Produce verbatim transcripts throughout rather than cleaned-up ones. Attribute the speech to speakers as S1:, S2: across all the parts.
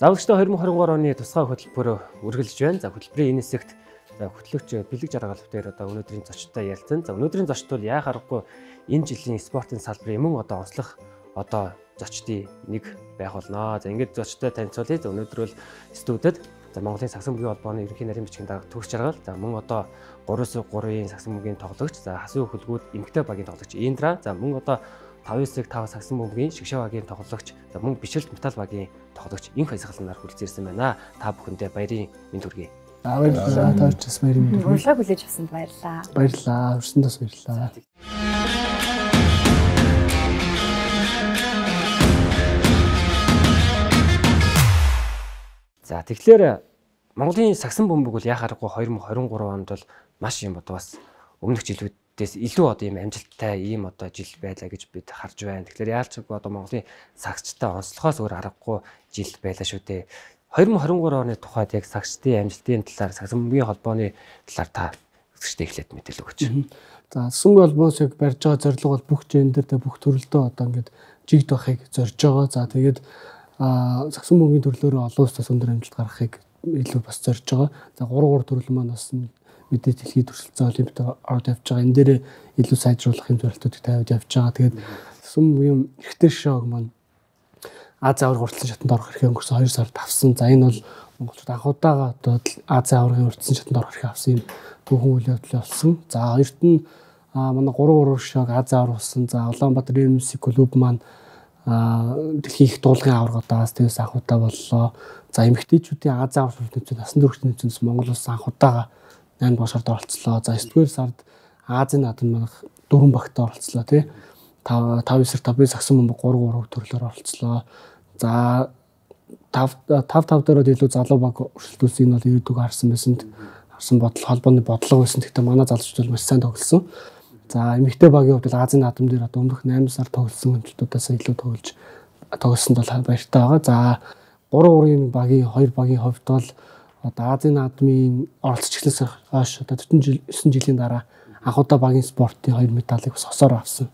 S1: Завлагчтай две тысячи двадцать три оны тусгай хөтөлбөрөөр үргэлж байна. За хөтөлбөрийн энэ хэсэгт за хөтлөгч Бэлэг Жаргалов дээр одоо өнөөдрийн зочдтой ярилцсан. За өнөөдрийн зочд бол яа харахгүй энэ жилийн спортын салбарын мөн одоо онцлог одоо зочдын нэг байх болно. За ингээд зочдтой танилцуулъя. За өнөөдөр бол студид за Монголын сагсан бүгийн холбооны ерөнхий нарийн бичгийн дарга Төгс Жаргал, за мөн одоо гуравс гурвын сагсан бүгийн тоглогч, за хасуу хөлгүүд эмэгтэй багийн тоглогч Индра, за мөн одоо тавс тав сагсан бүгийн шгшээ багийн тоглогч, за мөн бичлэлт металл багийн тоглогч инх хязгаалнаар хүрэлцээрсэн байна. Та бүхэндээ баярын мэнд хүргэе.
S2: Аа баярлалаа. Таачаас баярын мэнд хүргэе.
S3: Урилга хүлээж авсанд баярлалаа.
S2: Баярлалаа. Өрсөндөөс баярлалаа.
S1: За тэгэхээр Монголын сагсан бөмбөг бол яхаарахгүй две тысячи двадцать три онд бол маш юм одоо бас өмнөх жилүүдээс илүү одоо ийм амжилттай ийм одоо жил байлаа гэж бид харж байна. Тэгэхээр яалчгүй одоо Монголын сагчтай онцлохоос өөр аргагүй жил байлаа шүү дээ. две тысячи двадцать три оны тухайд яг сагчдын амжилтын талаар сагсан бөмбөгийн холбооны талаар та үзэгчтэй эхлээд мэдээлэл өгөөч.
S2: За сагсан бөмбөгийн холбоос яг барьж байгаа зорилго бол бүх гендертэй бүх төрөлдөө одоо ингээд жигд байхыг зорж байгаа. За тэгээд а сагсан бөмбөгийн төрлөөрөө олон улсаас өндөр амжилт гаргахыг илүү бас зорж байгаа. За гурван гурван төрөл маань бас мэдээ дэлхийд төрөлцсөн олимпиад ороод явж байгаа. Энэ дээр илүү сайжруулах юм зорилтуудыг тавиад явж байгаа. Тэгээд сагсан бөмбөгийн эрэгтэй шоуг маань Азийн аварга уртсан шатанд орох эрхээ өнгөрсөн хоёр сард авсан. За энэ бол монголчууд анх удаага одоо Азийн аваргын уртсан шатанд орох эрхээ авсан юм түүхэн үйл явдал болсон. За хоёрт нь манай гурван гурван шоуг Азийн аварга болсон. За Улаанбаатар эм эс клуб маань дэлхийн их дуулгын аваргуудаас тэгээс анх удаа боллоо. За эмэгтэйчүүдийн Азийн аварга төвчид насан туршийн төвчнөөс Монгол улс анх удаага найман дугаар сард оролцлоо. За девять дугаар сард Азийн наадам манайх дөрвөн багт оролцлоо тий. тав тав сар тавын сагсан бөмбөг гурван гурван төрлөөр оролцлоо. За тав тав тав дээр илүү залуу баг өршөлтүүлсэн энэ бол ирээдүг харсан байсан. Харсан бодол холбооны бодлого байсан. Гэхдээ манай залуучууд бол маш сайн тоглосон. За эмэгтэй багийн хувьд бол Азийн наадам дээр одоо өмнөх найман сар тоглосон хэмжлүүдээс илүү тоглож тоглосонд бол баяртай байгаа. За гурван гурван багийн хоёр багийн хувьд бол одоо Азийн наадмын оролцож эхлээс хойш одоо девятнадцать жилийн дараа анх удаа багийн спортын хоёр медалийг бас хосоор авсан.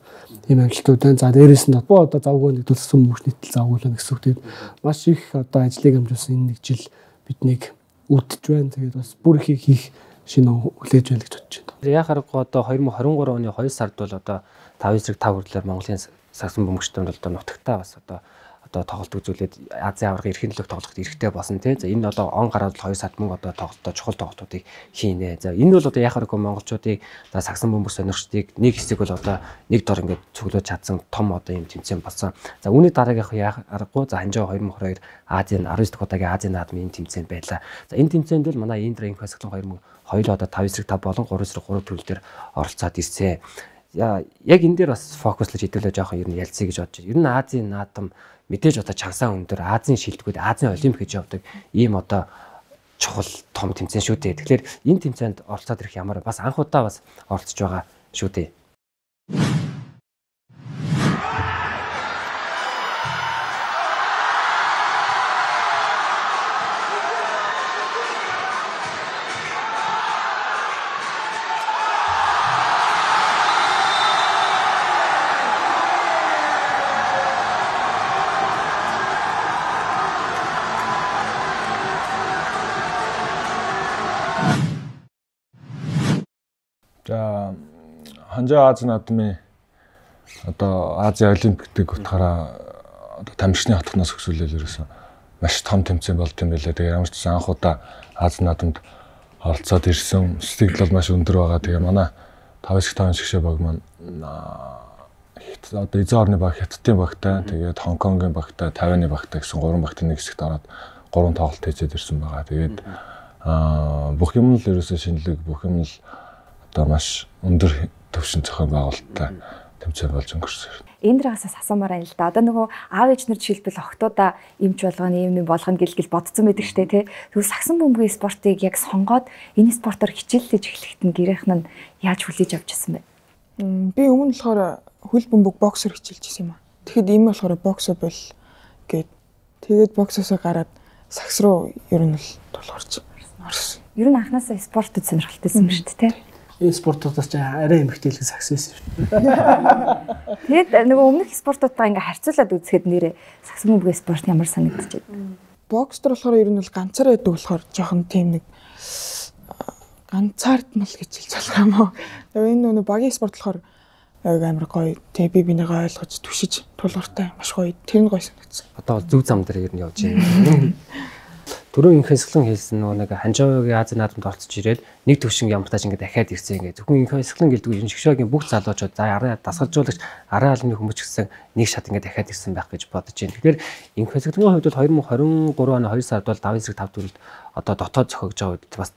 S2: Тийм амжилтууд байна. За дээрээс нь одоо одоо завгүй нэгдүүлсэн мөнх нийтэл завгуулна гэсэн үг. Тэгээд маш их одоо ажлыг амжуулсан энэ нэг жил биднийг үдэж байна. Тэгээд бас бүр их хийх шинэ хүлээж байна гэж бодож байна.
S1: Яхаарахгүй одоо две тысячи двадцать три оны хоёр сард бол одоо тавын зэрэг тав хүрлээр Монголын сагсан бөмбөгчдөнд бол одоо нутагтаа бас одоо одоо тоглолт үзүүлээд Азийн аваргын эрхийн төлөөх тоглоход эрэхтэй болсон тий. За энэ одоо он гараад хоёр сард мөн одоо тоглолтоо чухал тоглолтуудыг хийнэ. За энэ бол одоо яхаарахгүй монголчуудыг за сагсан бөмбөг сонирхчдыг нэг хэсэг бол одоо нэг дор ингээд цуглуулж чадсан том одоо юм тэмцээн болсон. За үүний дараагийнх яхаарахгүй за ханжаа две тысячи двадцать two Азийн девять дахь удаагийн Азийн наадмын тэмцээн байлаа. За энэ тэмцээнд бол манай Индра инх хязгаалan две тысячи хоёр одоо тавын зэрэг тав болон гурван зэрэг гурван төрөл дээр оролцоод ирсэн. Яг энэ дээр бас фокуслаж хэдүүлээ жоохон ер нь ялцъя гэж бодож байна. Ер нь Азийн наадам мэдээж одоо чансаа өндөр Азийн шилдэгүүд Азийн олимпик гэж явдаг ийм одоо чухал том тэмцээн шүү дээ. Тэгэхээр энэ тэмцээнд оролцоод ирэх ямар бас анх удаа бас оролцож байгаа шүү дээ.
S4: За ханжаа Азийн наадмын одоо Азийн олимпиктыг утгаараа одоо тамирчны хатгнаас өсвөлөл ерөөсөн маш том тэмцээн болд юм байлаа. Тэгээ ямар ч гэсэн анх удаа Азийн наадамд оролцоод ирсэн. Сэтгэл бол маш өндөр байгаа. Тэгээ манай тавын тавын шгшээ баг маань одоо эзэн орны баг Хятадын багтай, тэгээд Хонконгийн багтай, Тайваны багтай гэсэн гурван багтын нэг хэсэгт ороод гурван тоглолт хийжээд ирсэн байгаа. Тэгээд аа бүх юм л ерөөсөө шинэлэг, бүх юм л одоо маш өндөр төвшин зохион байгуулалттай тэмцээн болж өнгөрсөн.
S3: Эндрагаас асуумаар байна л да. Одоо нөгөө аав ээж нар жишээлбэл охтуудаа эмч болгоно, юм юм болгоно гэлгэл бодсон байдаг штэ тий. Тэгвэл сагсан бөмбөгийн спортыг яг сонгоод энэ спортоор хичээллэж эхлэхэд нь гэрийнх нь яаж хүлээж авч ирсэн бэ?
S5: Би өмнө болохоор хөл бөмбөг боксер хичээлж ирсэн юм аа. Тэгэхэд ийм болохоор боксер бол гээд тэгээд боксоосоо гараад сагс руу ер нь л тулгарч орсон.
S3: Ер нь анхнаасаа спортод сонирхолтой юм шүү дээ тий.
S2: Энэ спортуудаас ч арай эмхтэйлэх сагс байсан шүү.
S3: Тэгээд нөгөө өмнөх спортуудаа ингээ харьцуулаад үзэхэд нэрээ сагсан бөмбөгийн спорт ямар санагдчихэв.
S5: бокс дээр болохоор ер нь бол ганцаар байдаг болохоор жоохон тийм нэг ганцаардмал гэж хэлж болох юм уу. Тэгээ энэ нөгөө багийн спорт болохоор амар гоё. Тэгээ би бинийгаа ойлгож түшиж тулгартай маш гоё. Тэр нь гоё санагдсан.
S1: Одоо зөв зам дээр ер нь явж байна. Түрүү инх хэсгэлэн хэлсэн нөгөө нэг Ханжаагийн Азийн наадамд орцож ирээд нэг төвшин ямартаж ингээд дахиад ирсэн ингээд зөвхөн инх хэсгэлэн гэлдэг энэ шгшөөгийн бүх залуучууд за араа дасгалжуулагч араа албаны хүмүүс ч гэсэн нэг шат ингээд дахиад ирсэн байх гэж бодож байна. Тэгэхээр инх хэсгэлэн хувьд бол две тысячи двадцать три оны хоёр сард бол давын эсрэг тав төрөлд одоо дотоод зохиогж байгаа үед бас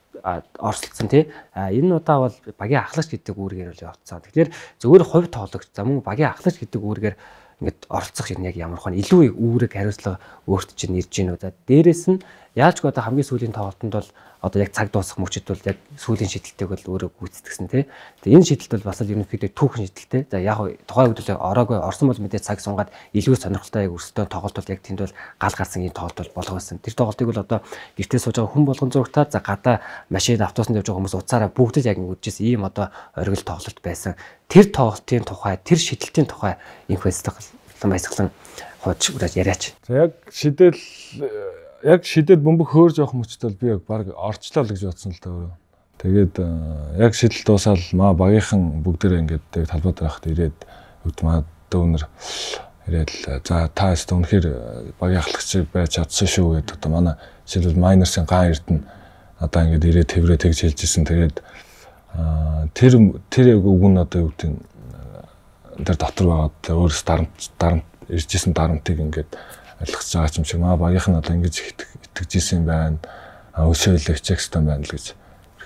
S1: оролцсон тий. А энэ удаа бол багийн ахлагч гэдэг үүргээр л явцсан. Тэгэхээр зөвхөн хувь тоглогч за мөн багийн ахлагч гэдэг үүргээр ингээд оролцох юм яг ямар хань илүү үүрэг хариуцлага өөрт чинь ирж гин үү. За дээрэс нь яалчгүй одоо хамгийн сүүлийн тоглолтод бол одоо яг цаг дуусах мөчид бол яг сүүлийн шийдэлтэйг бол өөрөө гүйцэтгсэн тий. Тэгээ энэ шийдэлт бол бас л ерөнхийдөө түүхэн шийдэлтэй. За яг тухайн үед л ороогүй орсон бол мэдээ цаг сунгаад илүү сонирхолтой яг өрсөлдөөн тоглолт бол яг тэнд бол гал гарсан ийм тоглолт бол болгосон. Тэр тоглолтыг бол одоо гэртээ сууж байгаа хүн болгон зургатаа за гадаа машин автобусанд явж байгаа хүмүүс уцаараа бүгд л яг үдчихсэн ийм одоо оргил тоглолт байсан. Тэр тоглолтын тухай тэр шийдэлтийн тухай инх баясгалан баясгалан хууч ураад яриач.
S4: За яг шидэл яг шидэд бөмбөг хөөрж явах мөчтөл би яг баг орчлоо л гэж бодсон л даа. Тэгээд яг шидэл дуусаад маа багийнхан бүгдээрээ ингээд талбай дээр хахад ирээд өдмаа дүүнэр ирээд л за та өстө үнэхээр багийн ахлагч байж чадсан шүү гэдэг одоо манай шидэл майнерсын ган эрдэнэ одоо ингээд ирээд тэврээ тэгж хэлжсэн. Тэгээд тэр тэр яг үг нь одоо юу гэдэг тэр дотор байгаад өөрөөс дарамт дарамт иржсэн дарамтыг ингээд ойлгож байгаа юм шиг маа багийнх нь одоо ингэж итгэж исэн байна. Өшөөлөх чекстон байна л гэж.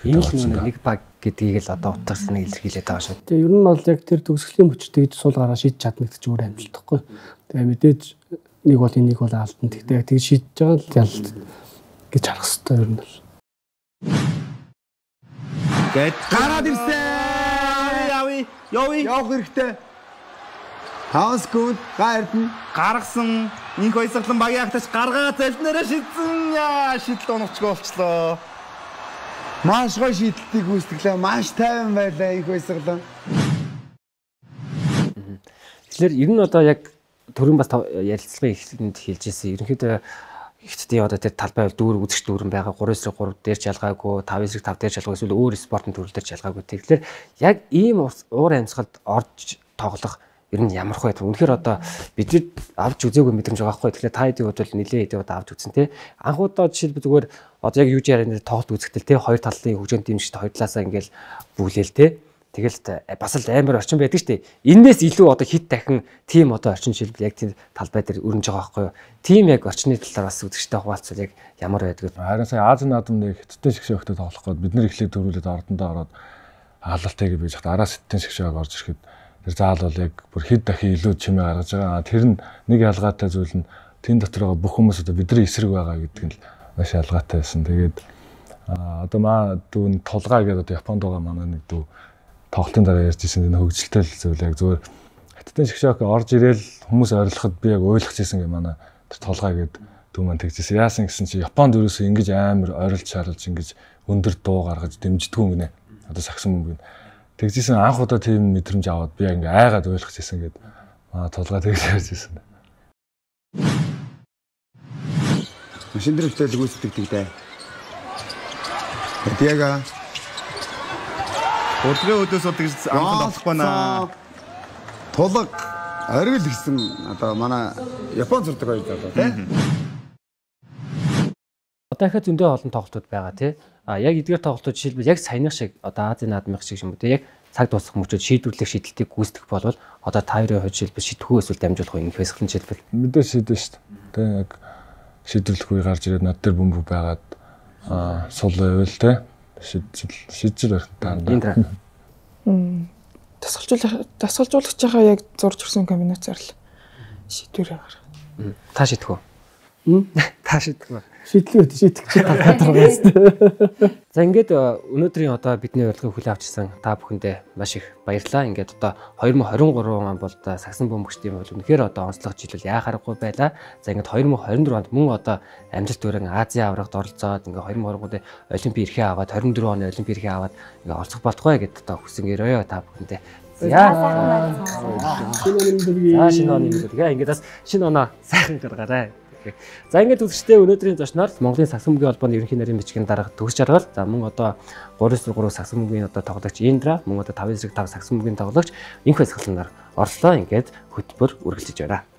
S1: Энэ л нэг баг гэдгийг л одоо утгасныг илэрхийлээд байгаа шүү.
S2: Тэгээ ер нь бол яг тэр төгсгөлийн мөчтэй гэж суулгаараа шийдэж чадна гэдэг чинь өөр амжилтахгүй. Тэгээ мэдээж нэг бол энийг бол алдна. Тэгтээ яг тэгж шийдэж байгаа л ялт гэж харах хэрэгтэй ер нь бол.
S6: Гэт гараад ирсэн. Яви, яви. Явах хэрэгтэй. Хаус гүд гайрдэн гаргасан инх баясгалан багийн ахлагч гаргаа залнараа шидсэн яа шидэл унагчгүй болчлоо. Маш гоё шийдэлтийг гүйцэтгэлээ. Маш тайван байлаа инх баясгалан.
S1: Тэгэхээр ер нь одоо яг төрийн бас ярилцлагын эхлэлд хэлж ирсэн. Ерөнхийдөө ихтэй одоо тэр талбай дүүр үзэгч дүүрэн байгаа три эсрэг три дээр ч ялгаагүй, five эсрэг five дээр ч ялгаагүй, эсвэл өөр спортын төрөл дээр ч ялгаагүй. Тэгэхээр яг ийм уур амьсгалд орж тоглох ер нь ямар хөө вэ? Үнэхээр одоо бид авч үзээгүй мэдрэмж байгаа байхгүй. Тэгэхээр та хэдийн хувьд бол нэлээд хэдийн удаа авч үзсэн тий. Анхудаа жишээлбэл зүгээр одоо яг юу ч ярианы тоглолт үзэхдээ тий хоёр талын хөгжөөнд дэмжигчд хоёр талаасаа ингээл бүлээл тий. Тэгэл бас л амар орчин байдаг шүү дээ. Иннээс илүү одоо хит дахин тим одоо орчин жишээлбэл яг тийм талбай дээр өрнөж байгаа байхгүй юу? Тим яг орчны талаар бас үзэгчтэй хуваалцвал яг ямар байдаг вэ?
S4: Харин сая Азийн наадамны хятадтай шгшээ өгтөд тоглох гээд бид нар эхлээд төрүүлээд ордондоо ороод хаалалтайг бийж хат араас хятадтай шгшээг орж ирэхэд тэр заал бол яг бүр хэд дахин илүү чимээ гаргаж байгаа. Тэр нь нэг ялгаатай зүйл нь тэн дотор байгаа бүх хүмүүс одоо бидний эсрэг байгаа гэдэг нь маш ялгаатай байсан. Тэгээд одоо маа дүүн тулгаа гэдэг одоо Японд байгаа манай нэг дүү тоглолтын дараа ярьж ирсэн энэ хөгжилтэй зүйл яг зүгээр хаттын шгшээг орж ирээл хүмүүс ойрлоход би яг ойлгож ирсэн гэх манай тэр толгой гээд дүү маань тэгжсэн. Яасан гэсэн чи Японд ерөөсөө ингэж амар ойрлж шаарлж ингэж өндөр дуу гаргаж дэмждэггүй гинэ. Одоо сагсан мөнгө. Тэгжсэн анх удаа тийм мэдрэмж аваад би ингээ айгаад ойлгож ирсэн гээд аа толгой тэгж ярьж ирсэн.
S6: Машин дээр хөтлөж гүйцэтгэдэг дээ. Тэга Урдгийн өдөөс бол тэгж анхан тоглохгүй наа. Тулаг оргил гэсэн одоо манай Япон зурдаг хоёр залуу тийм.
S1: Одоо ихэ зөндөө олон тоглолтууд байгаа тий. А яг эдгээр тоглолтууд жишээлбэл яг саяных шиг одоо Азийн наадмын шиг юм уу тий. Яг цаг дуусах мөчөд шийдвэрлэх шийдэлтийг гүйцэтгэх болвол одоо та хоёрын хувьд жишээлбэл шийдэхгүй эсвэл дамжуулах юм фэсгэлэн жишээлбэл
S4: мэдээ шийдэн шүү дээ. Тэ яг шийдвэрлэх үе гарч ирээд над дээр бөмбөг байгаад аа сул байвал тий. Шийдэл шийдэл байна.
S5: Мм тасгалжуулах тасгалжуулагчаа яг зурж ирсэн комбинацаар л шийдвэрээ гаргах.
S1: Та шийдэх үү? Та шийдэх үү?
S2: Шийдлээ шийдэх гэж байгаа.
S1: За ингээд өнөөдрийн одоо бидний урилгыг хүлээн авчирсан та бүхэндээ маш их баярлалаа. Ингээд одоо twenty twenty-three он бол одоо сагсан бөмбөгчдийн бол үнэхээр одоо онцлог жилүүл яахааргүй байлаа. За ингээд twenty twenty-four онд мөн одоо амжилт өрөн Азийн аврагт оролцоод ингээд twenty twenty-three онд олимпийн эрхээ аваад twenty-four оны олимпийн эрхээ аваад ингээд оролцох болтугай гэдээ одоо хүсэн гэрөөё та бүхэндээ. За шинэ оны мэдлэг ингээд бас шинэ оноо сайхан гаргаарай. За ингээд үзэгчдээ өнөөдрийн зочноор Монголын сагсан мөгийн холбооны ерөнхий нарийн бичгийн дарга Төгс Жаргал, за мөн одоо гурван три сагсан мөгийн одоо тоглогч Индра, мөн одоо таван эсрэг тав сагсан мөгийн тоглогч Инх Баясгаланаар орлоо. Ингээд хөтөлбөр үргэлжлэж байна.